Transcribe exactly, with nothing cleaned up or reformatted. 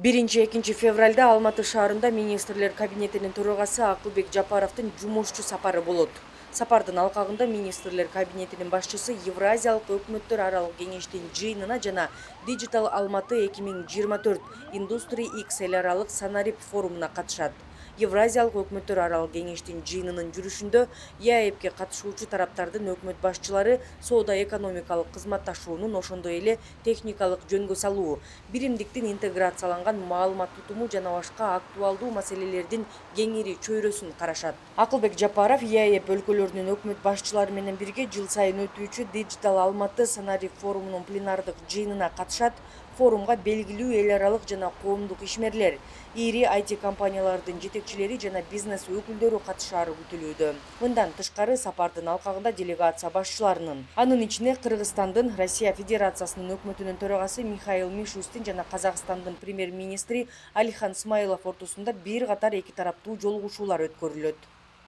биринчи-экинчи февралда Алматы шаарында министрлер кабинетинин төрагасы Акылбек Жапаровдун жумушчу сапары болот. Сапардын алкагында министрлер кабинетинин башчысы Евразиялык өкмөттөр аралык кеңештин жыйынына жана Digital Алматы эки миң жыйырма төрт Industry X эл аралык Санарип форумуна катышат. Евразиялык өкмөттөр аралык кеңештин жыйынынын жүрүшүндө ЕАЭБке катышуучу тараптардын өкмөт башчылары соода-экономикалык кызматташуунун, ошондой эле техникалык жөнгө салуу, биримдиктин интеграцияланган маалымат тутуму жана башка актуалдуу маселелердин кеңири чөйрөсүн карашат. Акылбек Жапаров ЕАЭБ өлкөлөрүнүн өкмөт башчылары менен бирге жыл сайын өтүүчү Digital Алматы Санарип форумунун пленардык жыйынына катышат. Форумга белгилүү эл аралык жана коомдук ишмерлер, ири ай ти компаниялардын жетекчилери жана бизнес өкүлдөрү катышаары күтүлүүдө. Мындан тышкары сапардын алкагында делегация башчыларынын, анын ичине Кыргызстандын, Россия Федерациясынын өкмөтүнүн төрагасы Михаил Мишустин жана Казакстандын премьер-министри Алихан Смайлов ортосунда бир катар эки тараптуу жолугушуулар өткөрүлөт.